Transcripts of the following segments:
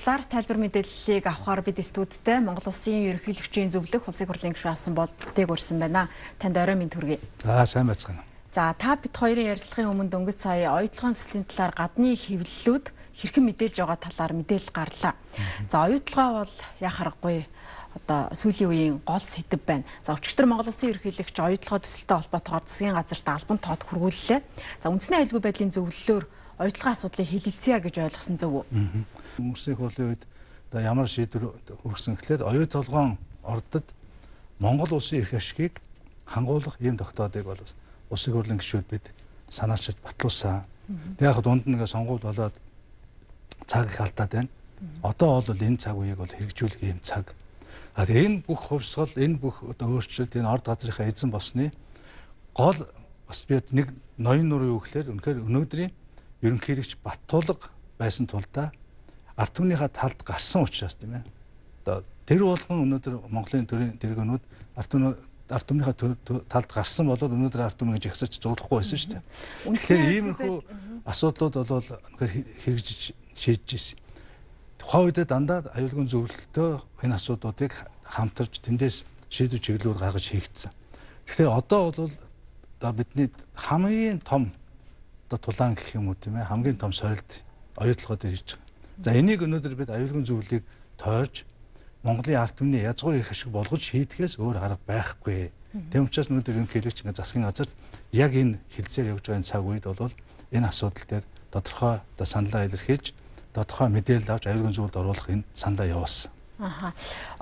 талаар тайлбар мэдээллийг авахар бид студидтэй Монгол Улсын ерөнхийлөгчийн зөвлөх улсын хурлын гишүүн Асан Болдыг урьсан байна. Танд орой мэнд хүргэе. Сайн байцгаана. За та бид хоёрын ярилцлагын өмнө дөнгөж сая оюутлогын төслийн талаар гадны хэвлэлүүд хэрхэн мэдээлж байгаа талаар мэдээлэл гарлаа. За оюутлогоо бол яах аргагүй одоо сүүлийн үеийн гол сэдэв байна. За өчигдөр Монгол Улсын ерөнхийлөгч оюутлогоо төсөлтөй холбоотойгоор засгийн газарт албан тоот хүргүүллээ. За үндэсний аюулгүй байдлын зөвлөлөөр оюутлогын асуудлыг хэлэлцъя гэж ойлгосон зөв үү? Өнгөрсөн хурлын үед ямар шийдвэр хүргэсэн гэхээр оюутлогын ордод Монгол улсын эрх ашигыг хангуулах ийм тогтоодыг бол улсын хурлын гишүүд бид санаачилж батлуулсан. Яг дунд нь сонгуульд болоод цаг их алдаад байна. Одоо бол энэ цаг үеийг бол хэрэгжүүлэх ийм цаг. Энэ бүх хувьсгал, энэ бүх өөрчлөлт энэ орд газрынхаа эзэн болсны гол бас би нэг ноён нур юу гэхээр үнэхээр өнөөдрийн ерөнхийлөгч Баттулга байсан тулдаа ард түмнийхээ талд гарсан учраас тийм ээ. Одоо тэр болгон өнөөдөр Монголын төрийн тэргүүнүүд ард түмнийхээ талд гарсан бол өнөөдөр ард түмнийг жагсаж зуглахгүй байсан шүү дээ. Тэгэхээр иймэрхүү асуудлууд бол үнэхээр хэрэгжиж шийдэж ирсэн. Тухайн үед дандаа аюулгүй зөвлөлтөө энэ асуудлуудыг хамтарч тэндээс шийдвэр чиглэлүүд гаргаж хийгдсэн. Тэгэхээр одоо бол бидний хамгийн том тулаан гэх юм уу тийм ээ, хамгийн том сорилт оюутлогоо дээр хийж байгаа. За энийг өнөөдөр бид аюулгүй зөвлөлийг тойрж Монголын ард түмний язгуур эрх ашиг болгож шийдэхээс өөр арга байхгүй. Тэм учраас өнөөдөр ерөнхийлөгч засгийн газарт яг энэ хилцээр явж байгаа цаг үед бол энэ асуудал дээр тодорхой саналаа илэрхийлж тодорхой мэдээлэл авч аюулгүй зөвлөлд оруулах энэ саналаа явуулсан.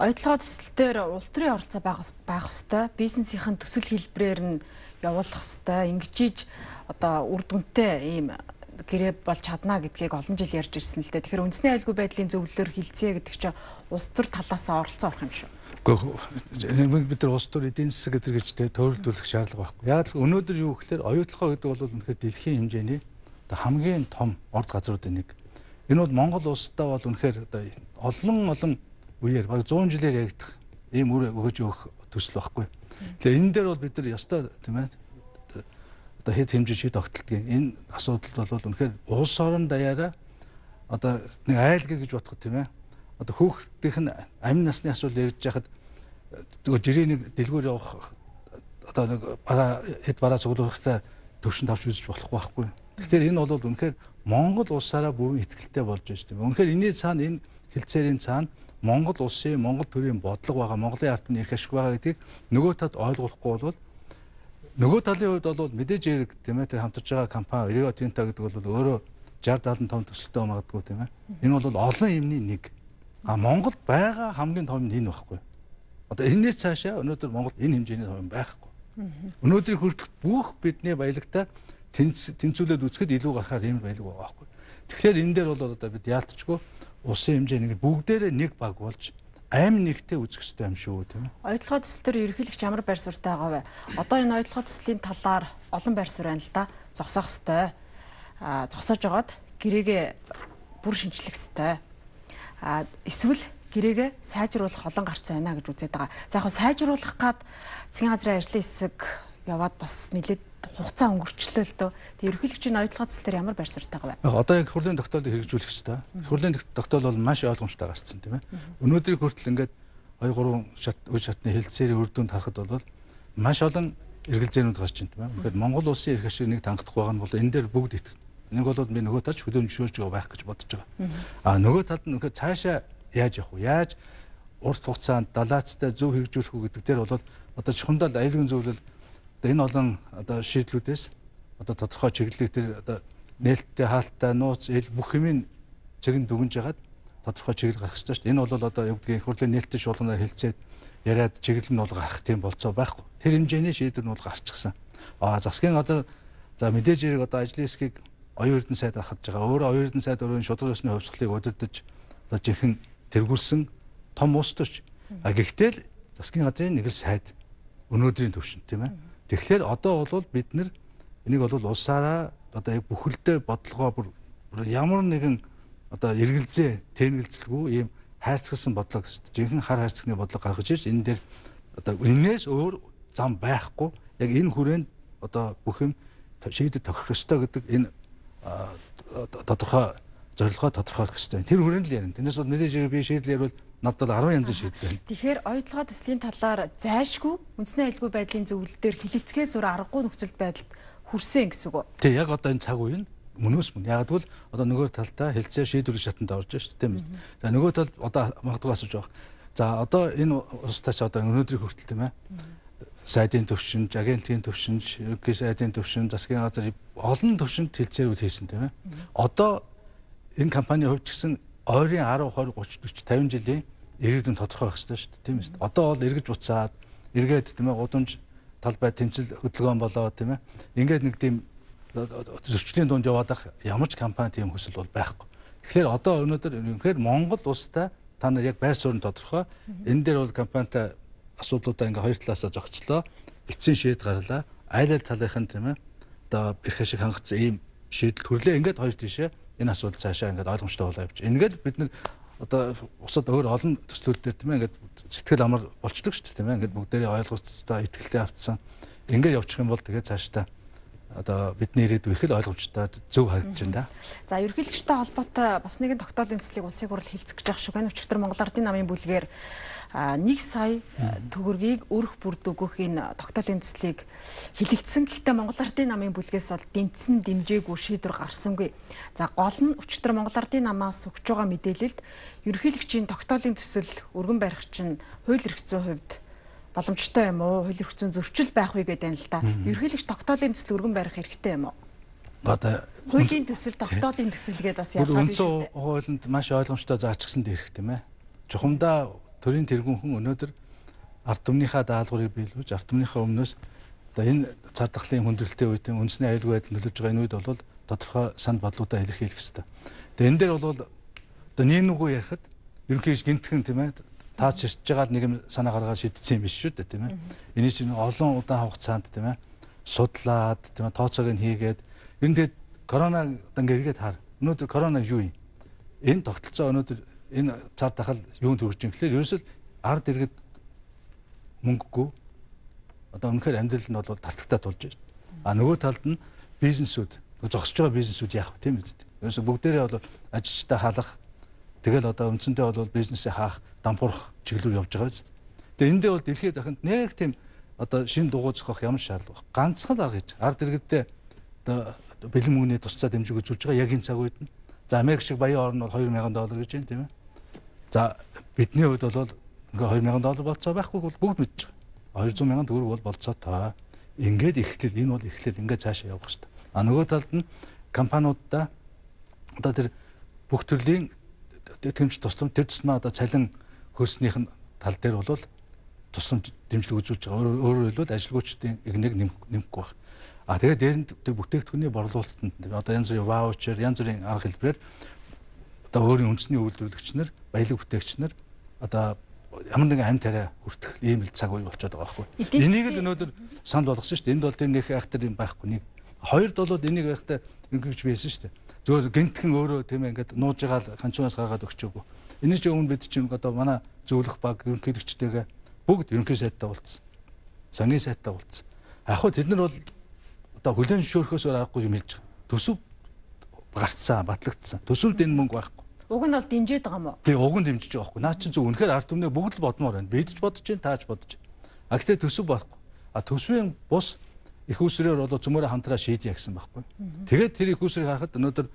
Оюутлогоо төсөл дээр улс төрийн оролцоо байх ёстой, бизнесийн төсөл хэлбэрээр нь явуулах ёстой. Ингэж одоо үр дүнтэй ийм гэрээ болж чадна гэдгийг олон жил ярьж ирсэн л дээ. Тэгэхээр үндэсний аюулгүй байдлын зөвлөлөөр хилцээ гэдэг чинь улс төр талаас оролцоо орох юм шүү. Гэхдээ бид нар улс төр эдийн засаг гэдэг гэж төвлөрүүлэх шаардлага байхгүй. Яг л өнөөдөр юу гэхээр оюутлогоо гэдэг бол үнэхээр дэлхийн хэмжээний хамгийн том орд газруудын нэг. Энэ бол Монгол улсдаа бол үнэхээр олон үеэр баг 100 жилээр яригдах ийм үр өгөж өгөх төсөл байхгүй. Тэгэхээр энэ дээр бол бид нар ёстой тийм ээ. Одоо хэд хэмжиж шийд тогтолтгийн энэ асуудал бол үнэхээр улс орон даяараа одоо нэг айлгэр гэж бодоход тийм ээ. Одоо хүүхдийнх нь амин насны асуудал ярьж байхад жирийн нэг дэлгүүр явах одоо нэг хэд бараа цуглуулахтай төвшин тавч үзэж болохгүй байхгүй. Тэгэхээр энэ бол үнэхээр Монгол улсаараа бүрэн итгэлтэй болж байна тийм ээ. Үнэхээр энэний цаана энэ хилцээрийн цаана Монгол улсын Монгол төрийн бодлого байгаа, Монголын ард түмний эрх ашиг байгаа гэдгийг нөгөө талд ойлгохгүй бол нөгөө талын хувьд бол мэдээж хэрэг тийм ээ, тэр хамтарч байгаа компани Rio Tinto гэдэг бол өөрөө 60-70 том төсөлтөө магадгүй тийм ээ. Энэ бол олон юмны нэг. Монголд байгаа хамгийн том нь энэ байхгүй. Одоо энэс цаашаа өнөөдөр Монголд энэ хэмжээний том байхгүй. Өнөөдрийг хүртэх бүх бидний баялагтаа тэнцвүүлээд үзэхэд илүү гарахаар ийм баялаг байгаа байхгүй. Тэгэхээр энэ дээр бол одоо бид яалтчгүй улсын хэмжээний бүгдээрээ нэг баг болж амь нэгтэй үзэх хэрэгтэй юм шүү тийм ээ. Оюутлогоо төсөл төр ерөнхийлөгч ямар байр суурьтай байгаа вэ? Одоо энэ оюутлогоо төслийн талаар олон байр суурь байна л да. Зогсоох хэрэгтэй. Зогсоож байгаад гэрээгээ бүр шинжлэх хэрэгтэй. Эсвэл гэрээгээ сайжруулах олон гарц байна гэж үзээд байгаа. За яг сайжруулах гад засгийн газрын ажлын хэсэг яваад бас нэлээд хугацаа өнгөрчлөө л дөө. Тэгээ ерөнхийлөгчийн оюутлогоо төсөл төр ямар байр суурьтай байгаа вэ? Одоо яг хурлын тогтоолыг хэрэгжүүлэх хэрэгтэй. Хурлын тогтоол бол маш ойлгомжтой гарсан тийм ээ. Өнөөдрийг хүртэл ингээд 2-3 үе шатны хэлцээрийн үр дүнд харахад бол маш олон эргэлзээнүүд гарч байна тийм ээ. Тэгэхээр Монгол улсын эрх ашиг нэг тангах байгаа нь бол энэ дээр бүгд итгэв. Нэг бол би нөгөө талд хөдөлгөөн зөвшөөрж байгаа байх гэж бодож байгаа. Нөгөө талд нь үнэхээр цаашаа яаж явах вэ? Яаж урт хугацаанд далаацтай зөв хэрэгжүүлэх үү гэдэг дээр бол одоо чухамдал аюулгүй зөвлөл энэ олон одоо шийдлүүдээс одоо тодорхой чиглэлийг тэр одоо нээлттэй хаалттай нууц ил бүх юмын цэгэн дүгнж ягаад тодорхой чиглэл гарах хэрэгтэй шүү дээ. Энэ бол одоо юу гэдгийг хурлын нээлттэй шуулганаар хэлцээд яриад чиглэл нь бол гарах тийм болцоо байхгүй. Тэр хэмжээний шийдвэр нь бол гарчихсан. Засгийн газар за мэдээж хэрэг одоо ажлын хэсгийг оюун эрдэнэ сайд ахаж байгаа. Өөрөө оюун эрдэнэ сайд өөрийн шударга ёсны хувьсгалыг удирдах одоо жинхэнэ тэргүүлсэн том улс төрч. Гэхдээ л засгийн газрын нэг л сайд өнөөдрийн төвшин тийм ээ. Тэгэхээр одоо бол бид нар энийг бол улсаараа одоо яг бүхэлдээ бодлогоо бүр ямар нэгэн одоо эргэлзээ тэнэлцэлгүй ийм хайрцагсан бодлого жинхэнэ хар хайрцагны бодлого гаргаж ирж энэ дээр одоо энэс өөр зам байхгүй яг энэ хүрээнд одоо бүх юм шийдэж тохирох ёстой гэдэг энэ тодорхой зорилгоо тодорхойлох хэрэгтэй. Тэр хүрээнд л ярина. Тэрнээс бол мэдээж би шийдэл ярил надад 10 янзын шийдэл байна. Тэгэхээр оюутлогоо төслийн талаар зайлшгүй үндэсний аюулгүй байдлын зөвлөл дээр хилэлцгээс зур аргагүй нөхцөл байдалд хүрсэн гэсэн үг үү? Тэг яг одоо энэ цаг үеийн мөнөөс мөн. Яг тэгвэл одоо нөгөө талдаа хэлцээ шийдвэрлэх шатанд орж байна шүү дээ, тийм үү? За нөгөө талд одоо магадгүй асууж байгаа. За одоо энэ улстай ч одоо өнөөдрийг хүртэл тийм ээ. Сайдын төвшинж, агентлагийн төвшинж, ерөнхий сайдын төвшин, засгийн газар олон төвшөнд хэлцээрүүд хийсэн тийм ээ. Одоо энэ компани хувьд ч гэсэн ойрын 10, 20, 30, 40, 50 жилийн ирээдүйн тодорхой байх хэрэгтэй шүү дээ, тийм ээ. Одоо бол эргэж буцаад, эргээд тийм ээ гудамж талбай тэмцэл хөдөлгөөн болоо тийм ээ. Ингээд нэг тийм зөрчлийн дунд яваад ах ямар ч компани тийм хүсэл бол байхгүй. Тэгэхээр одоо өнөөдөр үнэхээр Монгол улстай та нар яг байр суурь нь тодорхой. Энэ дээр бол компанитай асуудлуудаа ингээ хоёр талаасаа зогцлоо. Эцсийн шийдэл гарлаа. Айл айл талынх нь тийм ээ. Одоо эрх ашиг хангацсан ийм шийдэл төрлөө. Ингээд хоёр тийшээ энэ асуудал цаашаа ингээд ойлгомжтой болоо явж. Ингээд бид нар одоо усад өөр олон төслүүд дээр тийм ээ ингээд сэтгэл амар болчдөг шүү дээ тийм ээ. Ингээд бүгдээрээ ойлгоцтой итгэлтэй автсан. Ингээд явчих юм бол тэгээд цаашдаа одоо бидний ирээдүй их л ойлгомжтой зөв харагдаж байна да. За ерөнхийлөгчтэй холбоотой бас нэгэн тогтоолын төслийг улсын хурал хэлцэж байгаа шүү. Энэ өчигдөр Монгол Ардын намын бүлгээр 1 сая төгрөгийг өрх бүрд өгөх энэ тогтоолын төслийг хэлэлцсэн. Гэхдээ Монгол Ардын намын бүлгээс бол дэмжсэн дэмжээгүй шийдвэр гарсангүй. За гол нь өчигдөр Монгол Ардын намаас өгч байгаа мэдээлэлд ерөнхийлөгчийн тогтоолын төсөл өргөн барих чинь хууль эрх зүйн хувьд боломжтой юм уу? Хууль эрх зүйн зөрчил байх үе гэдэг юм л да. Ерөнхийлөгч тогтоолын төсөл өргөн барих хэрэгтэй юм уу? Одоо хуулийн төсөл, тогтоолын төсөл гэдэг бас ялгаа биш үү? Хуулинд маш ойлгомжтой заачсан дээрх тийм ээ. Чухамдаа төрийн тэргүүнхэн өнөөдөр ард түмнийхээ даалгаврыг биелүүлж, ард түмнийхээ өмнөөс одоо энэ цар тахлын хүндрэлтэй үед үндэсний аюулгүй байдал нөлөөлж байгаа энэ үед бол тодорхой санд бодлуудаа илэрхийлэх хэрэгтэй. Тэгээ энэ дээр бол одоо нэг нүгөө ярихад ерөнхийдөө гинтхэн тийм ээ таач ширч байгаа л нэг юм санаа гаргаад шийдсэн юм биш шүү дээ тийм ээ. Эний чинь олон удаан хугацаанд тийм ээ судлаад тийм ээ тооцоог нь хийгээд энэ тэгээд корона ингээд эргээд хар. Өнөөдөр корона юу юм? Энэ тогтолцоо өнөөдөр энэ цар тахал юунд хүрч юм гэхлээр ерөөсөө ард иргэд мөнгөгүй одоо үнэхээр амьдрал нь бол тартагтаа тулж байна. А нөгөө талд нь бизнесүүд зогсож байгаа бизнесүүд яах вэ тийм үү? Ерөөсөө бүгдээрээ бол ажилчтай халах тэгэл одоо үндсэндээ бол бизнесээ хаах, дампуурах чиглэлээр явж байгаа биз. Тэгээ эндээ бол дэлхийд дахинд нэг тийм одоо шинэ дугуй зохиох ямар шаардлага вэ? Ганцхан арга гэж ард иргэдээ одоо бэлэн мөнгөний тусцаа дэмжиг үзүүлж байгаа яг энэ цаг үед нь. За Америк шиг баян орн бол $2000 гэж байна тийм ээ. За бидний хувьд бол ингээ $2000 болцоо байхгүй бол бүгд мэдж байгаа. 200 мянган төгрөг бол болцоо таа. Ингээд эхлэл энэ бол эхлэл ингээ цаашаа явах хэрэгтэй. А нөгөө талд нь компаниудаа одоо тэр бүх төрлийн тэмч тусламж тэр тусмаа одоо цалин хөлснийх нь тал дээр бол тусламж дэмжлэг үзүүлж байгаа. Өөрөөр хэлбэл ажилгүйчдийн игнийг нэмэхгүй байна. А тэгээд дээрэнд тэр бүтээгдэхүүний борлуулалтанд одоо янз бүрийн ваучер, янз бүрийн арга хэлбэрээр одоо өөрийн үндэсний үйлдвэрлэгч нар, баялаг бүтээгч нар одоо ямар нэгэн амь тариа хүртэх ийм л цаг үе болчиход байгаа байхгүй. Энийг л өнөөдөр санал болгосон шүү дээ. Энд бол тэр нэг айхтар юм байхгүй нэг. Хоёрд бол энийг байхдаа ингэж байсан шүү дээ. Зөвхөн гинтхэн өөрөө тийм ээ ингээд нууж байгаа л ханчуунаас гаргаад өгчөөгүй. Энэ ч өмнө бид чинь одоо манай зөвлөх баг ерөнхийлөгчтэйгээ бүгд ерөнхий сайттай уулзсан. Сангийн сайттай уулзсан. Яг хөө тэд нар бол одоо хүлэн зөвшөөрөхөөс аргагүй юм хэлж байгаа. Төсөв гарцсан, батлагдсан. Төсөвд энэ мөнгө байхгүй. Уг нь бол дэмжиж байгаа юм уу? Тий, уг нь дэмжиж байгаа байхгүй. Наа чи зөв үнэхээр ард түмнээ бүгд л бодмоор байна. Бид ч бодож байна, тааж бодож байна. А гэхдээ төсөв байхгүй. А төсвийн бус их усрээр бол зөмөрө хамтраа шийдье гэсэн байхгүй. Тэгээд тэр их усрыг харахад өнөөдөр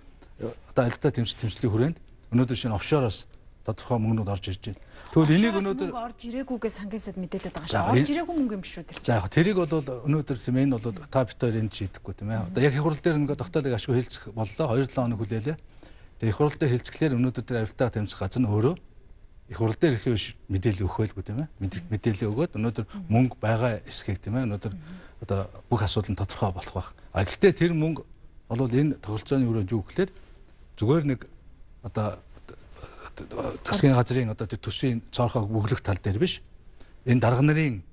одоо альтаа тэмцлийн хүрээнд өнөөдөр шинэ офшороос тодорхой мөнгнүүд орж ирж байна. Тэгвэл энийг өнөөдөр орж ирээгүйгээс хангисад мэдээлээд байгаа шүү. Орж ирээгүй мөнгө юм биш үү тэр. За яг тэрийг бол өнөөдөр энэ бол та бит хоёр энд шийдэхгүй тийм ээ. Одоо яг их хурал дээр ингээд тогтоолыг ашгүй хэлцэх боллоо. 2-7 хоног хүлээлээ. Тэгээ их хурал дээр хэлцэхлээр өнөөдөр тэр авилтаа тэмцэх газар нь өөрөө их хурал дээр их мэдээлэл өгөх байлгүй тийм ээ. Мэдээлэл өгөөд өнөөдөр мөнгө байгаа эсхийг тийм ээ. Өнөөдөр одоо бүх асуудал нь тодорхой болох байх. А гэхдээ тэр мөнгө бол энэ тогтолцооны өрөөнд юу гэхлээр зүгээр нэг одоо засгийн газрын одоо тэр төсвийн цоорхоо бүглэх тал дээр биш. Энэ дарга нарын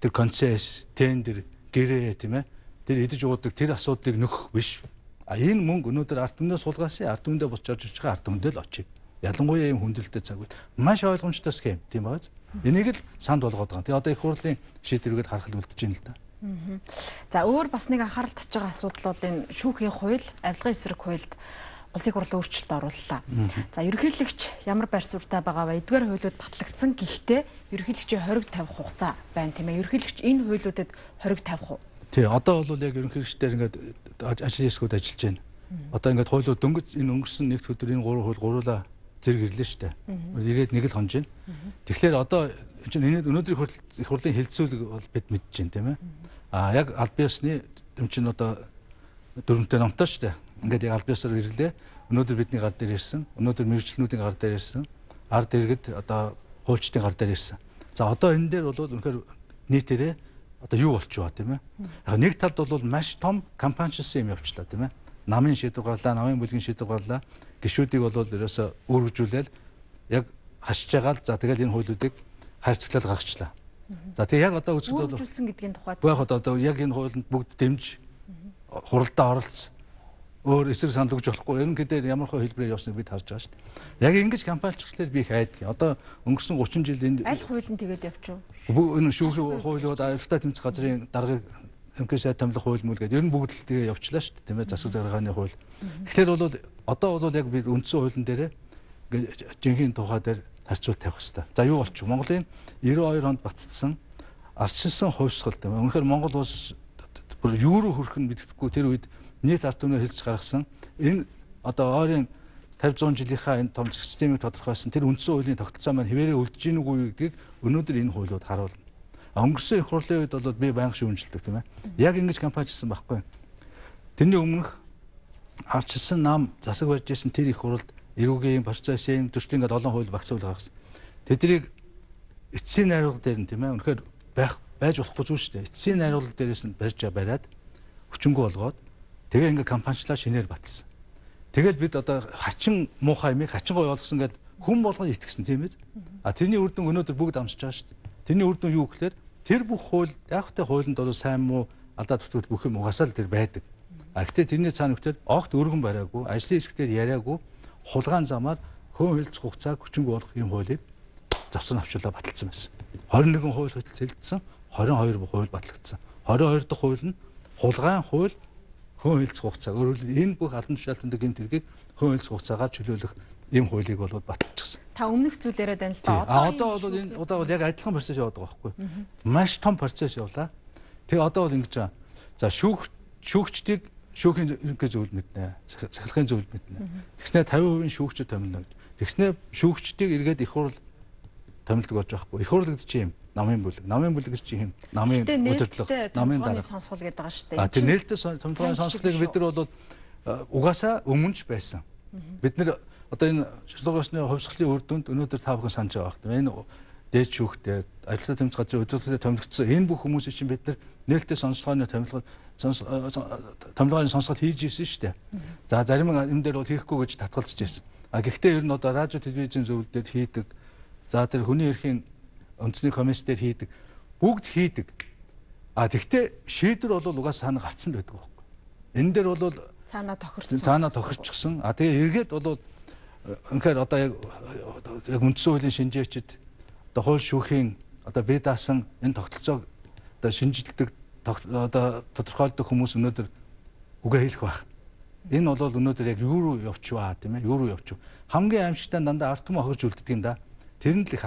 тэр концесс, тендер, гэрээ тийм ээ. Тэр идэж уудаг тэр асуудлыг нөхөх биш. А энэ мөнгө өнөөдөр ард түмнээ суулгаасан, ард түмэндээ буцаж орж ирж байгаа ард түмэндээ л очив. Ялангуяа ийм хүндрэлтэй цаг үед маш ойлгомжтой схем тийм байгааз. Энийг л санд болгоод байгаа. Тэгээ одоо их хурлын шийдвэргээд харах үлдэж байна л да. За өөр бас нэг анхаарал татж байгаа асуудал бол энэ шүүхийн хууль, авилгын эсрэг хуульд улсын хурлын өөрчлөлт орууллаа. За ерөнхийлөгч ямар байр суурьтай байгаа вэ? Эдгээр хуулиуд батлагдсан гэхдээ ерөнхийлөгчийн хориг тавих хугацаа байна тийм ээ. Ерөнхийлөгч энэ хуулиудад хориг тавих уу? Тий, одоо бол яг ерөнхийлөгчдэр ингээд ажил хэсгүүд ажиллаж байна. Одоо ингээд хуулиуд дөнгөж энэ өнгөрсөн нэгд өдөр энэ 3 хууль гуруула зэрэг ирлээ шүү дээ. Ирээд нэг л хонж байна. Тэгэхээр одоо өнөөдрийн их хурлын хэлэлцүүлэг бол бид мэдж байна тийм ээ. Яг аль биесны чинь одоо дөрвөнтэй номтой шүү дээ. Ингээд яг аль биесаар ирлээ. Өнөөдөр бидний гар дээр ирсэн. Өнөөдөр мэргэжлэнүүдийн гар дээр ирсэн. Ард иргэд одоо хуульчдын гар дээр ирсэн. За одоо энэ дээр бол үнэхээр нийтээрээ одоо юу болчихваа тийм ээ. Яг нэг талд бол маш том компаничсэн юм явчлаа тийм ээ. Намын шийдвэр гарлаа, намын бүлгийн шийдвэр гарлаа. Гишүүдийг бол ерөөсө үүргэжүүлээл яг хашиж байгаа л за тэгэл энэ хуулиудыг хайрцаглал гаргачлаа. За тэгээ яг одоо үзэхэд бол үүргэжүүлсэн гэдгийн тухайд яг одоо яг энэ хуулинд бүгд дэмж хуралдаа оролцсон. Өөр эсрэг санал өгж болохгүй. Ерөнхийдөө ямар хөө хэлбэрээр явсныг бид харж байгаа шүү дээ. Яг ингэж компаничлалаар би их айдаг. Одоо өнгөрсөн 30 жил энд аль хуулийн тэгээд явчих вэ? Энэ шүүх хуулиуд альфта тэмцэх газрын даргыг МК-ийн томлох хууль мөл гэдэг ер нь бүгд л тэгээ явчлаа шүү дээ. Тийм ээ засаг захиргааны хууль. Тэгэхээр бол одоо бол яг бид үндсэн хуулийн дээр жинхэнэ тухай дээр харьцуулт тавих хэрэгтэй. За юу болчих вэ? Монголын 92 онд батцсан ардчилсан хувьсгал тийм ээ. Үнэхээр Монгол улс бүр юу руу хүрэх нь мэддэхгүй тэр үед нийт ард түмнээ хэлж гаргасан энэ одоо ойрын 50-100 жилийнхаа энэ том системийг тодорхойлсон тэр үндсэн хуулийн тогтолцоо маань хэвээрээ үлдэж гин үгүй гэдгийг өнөөдөр энэ хуулиуд харуулна. Өнгөрсөн их хурлын үед бол би байнга шүүмжилдэг тийм ээ. Яг ингэж компаничлсан байхгүй. Тэрний өмнөх ардчилсан нам засаг барьж исэн тэр их хурлд эрүүгийн процессын төрчлийн ингээд олон хууль багц хууль гаргасан. Тэднийг эцсийн найруулга дээр нь тийм ээ. Үнэхээр байж болохгүй зүйл шүү дээ. Эцсийн найруулга дээрээс нь бариад хүчингү болгоод тэгээ ингээд компаничлаа шинээр баталсан. Тэгэл бид одоо хачин муухай юмыг хачин гоё болгосон гэдэг хүн болгоно итгэсэн тийм ээ. Тэрний үр дүн өнөөдөр бүгд амсаж байгаа шүү дээ. Тэрний үр дүн юу гэхээр тэр бүх хууль яахтай хуулинд бол сайн муу алдаа тутагд бүх юм угаасаа л тэр байдаг. Гэхдээ тэрний цаана өгтөд огт өргөн бариагүй, ажлын хэсгээр яриагүй, хулгайн замаар хөөн хэлц хугацааг хүчингү болгох юм хуулийг завсан авчуулаа баталсан байсан. 21 хууль хэлэлцсэн, 22 хууль батлагдсан. 22 дахь хууль нь хулгайн хууль хөөн хэлц хугацаа. Өөрөөр хэлбэл энэ бүх албан тушаалтанд гэмт хэргийг хөөн хэлц хугацаагаар чөлөөлөх ийм хуулийг бол баталчихсан. Та өмнөх зүйл яриад байна л да. Одоо бол энэ удаа бол яг адилхан процесс яваад байгаа байхгүй. Маш том процесс явлаа. Тэгээ одоо бол ингэж байгаа. За шүүгчдийг шүүхийн ерөнхий зөвлөлд мэднэ. Сахилгын зөвлөлд мэднэ. Тэгснээр 50% шүүгчд томилно. Тэгснээр шүүгчдийг эргээд их хурл томилдог болж байгаа байхгүй. Их хурл гэдэг чинь юм. Намын бүлэг. Намын бүлэг гэж чинь юм. Намын удирдлага, намын дарга сонсгол гэдэг байгаа шүү дээ. Тэр нээлттэй томилгооны сонсголыг бид нар бол угаасаа өмнөж байсан. Бид нар одоо энэ шилжүүлэгчний хувьсгалын үр дүнд өнөөдөр та бүхэн санаж байгаа хэрэг. Энэ дээд шүүхтэй, ажилтны тэмцэх газрын удирдлагын томилогдсон энэ бүх хүмүүсийг чинь бид нар нээлттэй сонсгооны томилгооны сонсгол хийж ирсэн шүү дээ. За зарим юм дээр бол хийхгүй гэж татгалзаж ирсэн. Гэхдээ ер нь одоо радио телевизийн зөвлөлдөд хийдэг. За тэр хүний эрхийн үндэсний комисс дээр хийдэг. Бүгд хийдэг. Тэгвэл шийдвэр бол угаасаа санаа гарцсан байдаг байхгүй. Энэ дээр бол цаанаа тохирсон. Цаанаа тохирчихсан. Тэгээ эргээд бол үнэхээр одоо яг үндсэн хуулийн шинжээчид одоо хууль шүүхийн одоо бие даасан энэ тогтолцоог одоо шинжилдэг одоо тодорхойлдог хүмүүс өнөөдөр үгээ хэлэх байх. Энэ бол өнөөдөр яг юу руу явчихваа тийм ээ? Юу руу явчих. Хамгийн аимшигтай дандаа ард түмэн хохирж үлддэг юм да. Тэр нь л их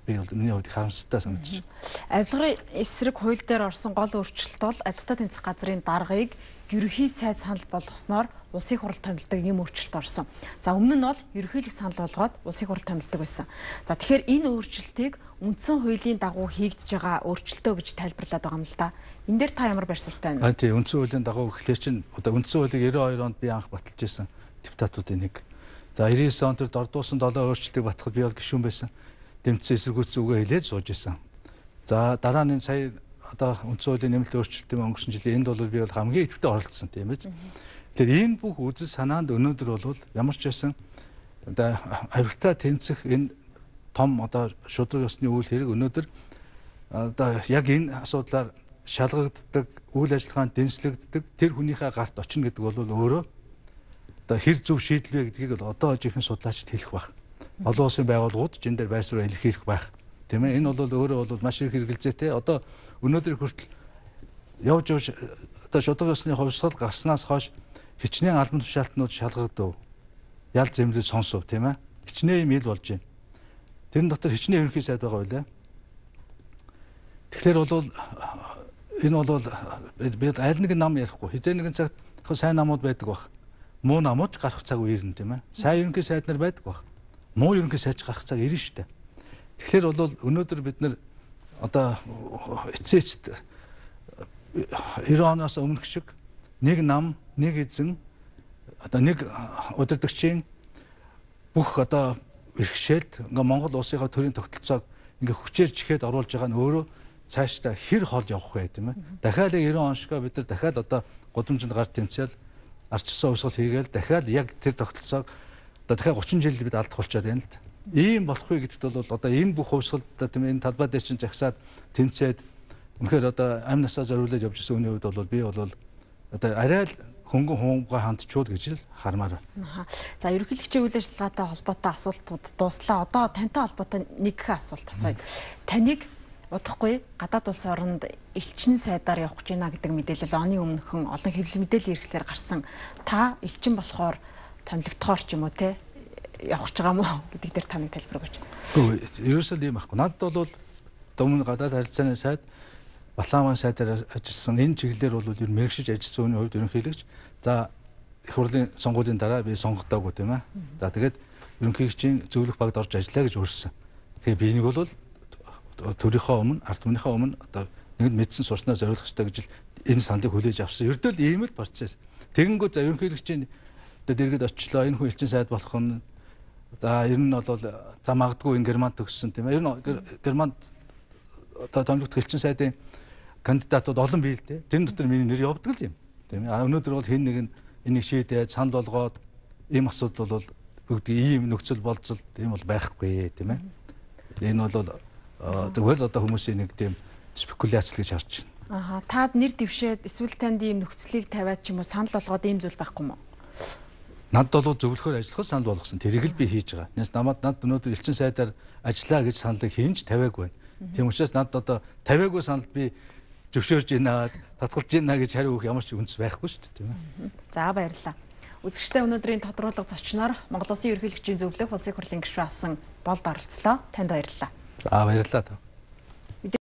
би бол миний хувьд харамсалтай санагдаж байна. Авилгын эсрэг хууль дээр орсон гол өөрчлөлт бол ажилтны тэмцэх газрын даргыг ерөнхий сайд санал болгосноор улсын хурал томилдог юм өөрчлөлт орсон. За өмнө нь бол ерөнхийлөг санал болгоод улсын хурал томилдог байсан. За тэгэхээр энэ өөрчлөлтийг үндсэн хуулийн дагуу хийгдэж байгаа өөрчлөлтөө гэж тайлбарлаад байгаа юм л да. Энэ дээр та ямар байр суурьтай байна? Тийм үндсэн хуулийн дагуу гэхлээр чинь одоо үндсэн хуулийг 92 онд би анх баталж ирсэн депутатуудын нэг. За 99 онд тэр дордуусан 7 өөрчлөлтийг батгахад би бол гишүүн байсан. Дэмцсэн эсэргүүцсэн үгээ хэлээд сууж исэн. За дараа нь сая одоо үндсэн хуулийн нэмэлт өөрчлөлтийн өнгөрсөн жилийн энд бол би бол хамгийн идэвхтэй оролцсон тийм ээ. Тэгэхээр энэ бүх үзэл санаанд өнөөдөр бол ямар ч байсан одоо авилтаа тэмцэх энэ том одоо шудраг ёсны үйл хэрэг өнөөдөр одоо яг энэ асуудлаар шалгагддаг, үйл ажиллагаанд дэнслэгддэг тэр хүнийхээ гарт очино гэдэг бол өөрөө одоо хэр зөв шийдэл вэ гэдгийг бол одоо жинхэнэ судлаачид хэлэх байх. Олон улсын байгууллагууд энэ дээр байр суурь илэрхийлэх байх. Тийм ээ. Энэ бол өөрөө бол маш их хэрэгэлзээтэй. Одоо өнөөдөр хүртэл явж одоо шудраг ёсны хувьсгал гарснаас хойш хичнээн албан тушаалтнууд шалгагдав. ял зэмлэл сонсов тийм ээ. Хичнээн юм ил болж байна. Тэрэн дотор хичнээн ерөнхий сайд байгаа байлаа. Тэгэхээр бол энэ бол би аль нэг нам ярихгүй. Хизээ нэгэн цагт сайн намууд байдаг бах. Муу намууд гарах цаг үе ирнэ тийм ээ. Сайн ерөнхий сайд нар байдаг бах. Муу ерөнхий сайд гарах цаг ирнэ шүү дээ. Тэгэхээр бол өнөөдөр бид нар одоо эцээчд 90 оноос өмнөх шиг нэг нам, нэг эзэн одоо нэг удирдагчийн бүх одоо бэрхшээлд ингээ Монгол улсынхаа төрийн тогтолцоог ингээ хүчээр чихээд оруулж байгаа нь өөрөө цаашдаа хэр хол явах вэ тийм ээ. Дахиад 90 он шигээ бид нар дахиад одоо гудамжинд гар тэмцээл арчсан уусгал хийгээл дахиад яг тэр тогтолцоог одоо дахиад 30 жил бид алдах болчиход байна л да. Ийм болох вэ гэдэгт бол одоо энэ бүх хувьсгалд тийм энэ талбай дээр чинь жагсаад тэмцээд үнэхээр одоо амь насаа зориулаад явж ирсэн үний хувьд бол би бол одоо арай л хөнгөн хуумгаа хандчууд гэж л хармаар байна. За ерөнхийлөгчийн үйл ажиллагаатай холбоотой асуултууд дууслаа. Одоо тантай холбоотой нэг их асуулт асууя. Таныг удахгүй гадаад улс оронд элчин сайдаар явах гэж байна гэдэг мэдээлэл оны өмнөхөн олон хэвлэл мэдээллийн хэрэгслээр гарсан. Та элчин болохоор томилогдохоор ч юм уу те явах гэж байгаа мó гэдэг дээр та нэг тайлбар өгөөч. Үгүй ерөөсөө ийм байхгүй. Надад бол өмнө гадаад харилцааны сайд Балааман сайдаар ажилласан энэ чиглэлээр бол ер нь мэрэгшиж ажилласан хүний хувьд ерөнхийлөгч за их хурлын сонгуулийн дараа би сонгогдоогүй тийм ээ. За тэгээд ерөнхийлөгчийн зөвлөх багт орж ажиллая гэж өөрсөн. Тэгээ би нэг бол төрийнхөө өмнө ард түмнийхээ өмнө одоо нэгд мэдсэн сурснаа зориулах хэрэгтэй гэж энэ сандыг хүлээж авсан. Ердөө л ийм л процесс. Тэгэнгүүт за ерөнхийлөгчийн одоо дэргэд очлоо энэ хүн элчин сайд болох нь за ер нь бол за магадгүй энэ Германд төгссөн тийм ээ. Ер нь Германд одоо томилогдох элчин сайдын кандидатууд олон бий л дээ. Тэрэн дотор миний нэр явдаг л юм. Тийм ээ. Өнөөдөр бол хэн нэгэн энийг шийдээд санд болгоод ийм асуудал бол бүгд ийм нөхцөл болцол тийм бол байхгүй тийм ээ. Энэ бол зөвхөн одоо хүмүүсийн нэг тийм спекуляц л гэж харж байна. Таад нэр дэвшээд эсвэл танд ийм нөхцөлийг тавиад ч юм уу санал болгоод ийм зүйл байхгүй мó? Надад бол зөвлөхөр ажиллахад санал болгосон. Тэрийг л би хийж байгаа. Над өнөөдөр элчин сайдаар ажиллаа гэж саналыг хийнж тавиагүй байна. Тийм учраас надад одоо тавиагүй саналд би зөвшөөрж ийна, татгалж ийна гэж хариу өгөх ямар ч үндэс байхгүй шүү дээ, тийм ээ. За баярлалаа. Үзэгчдээ өнөөдрийн тодруулга зочноор Монгол Улсын ерөнхийлөгчийн зөвлөх улсын хурлын гишүүн асан Болд оролцлоо. Танд баярлалаа. За баярлалаа.